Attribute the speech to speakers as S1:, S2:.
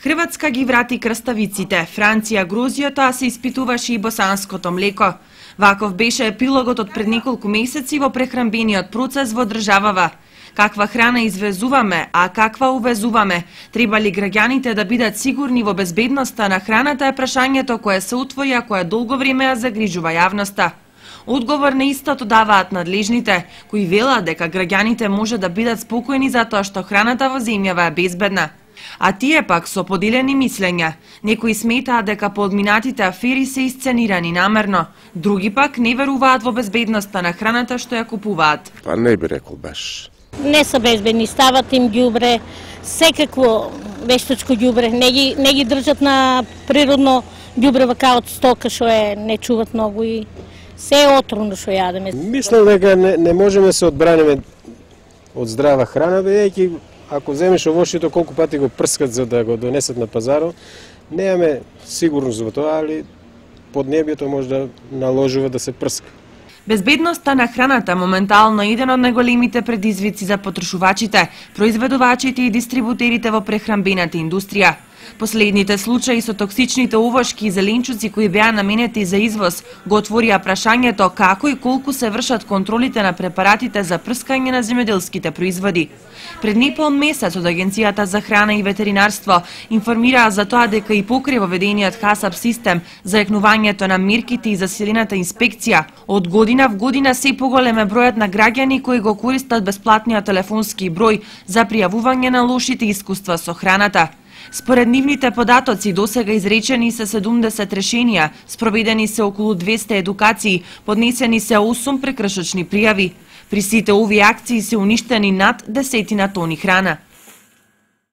S1: Хрватска ги врати краставиците, Франција грозјото, а се испитуваше и босанското млеко. Ваков беше епилогот од пред неколку месеци во прехранбениот процес во државава. Каква храна извезуваме, а каква увезуваме? Треба ли граѓаните да бидат сигурни во безбедноста на храната е прашањето кое се утвори, а кое долго време ја загрижува јавноста. Одговор на истото даваат надлежните, кои велат дека граѓаните може да бидат спокојни затоа што храната во земјава е безбедна. А тие пак со поделени мислења. Некои сметаат дека подминатите афери се исценирани намерно, други пак не веруваат во безбедноста на храната што ја купуваат.
S2: Па не би рекол баш.
S3: Не се безбедни, стават им ѓубре, секакво вештачко ѓубре, не ги држат на природно ѓубре вака од стока што не чуват многу и се е отровно што јадеме.
S4: Мислам дека не можеме се одбраниме од здрава храна, бидејќи ако земеш овошјето колку пати го прскат за да го донесат на пазарот, немаме сигурност во тоа, али поднебјето може да наложува да се прска.
S1: Безбедноста на храната моментално е еден од најголемите предизвици за потрошувачите, произведувачите и дистрибутерите во прехранбената индустрија. Последните случаи со токсичните овошки и зеленчуци кои беа наменети за извоз го отворија прашањето како и колку се вршат контролите на препаратите за прскање на земјоделските производи. Пред непол месец од Агенцијата за храна и ветеринарство информираа за тоа дека и покрај воведениот ХАСАП систем за екнувањето на мерките и засилената инспекција, од година в година се поголем е бројот на граѓани кои го користат бесплатниот телефонски број за пријавување на лошите искуства со храната. Според нивните податоци, досега изречени се 70 решенија, спроведени се околу 200 едукации, поднесени се 8 прекршочни пријави. При сите овие акции се уништени над 10 тони храна.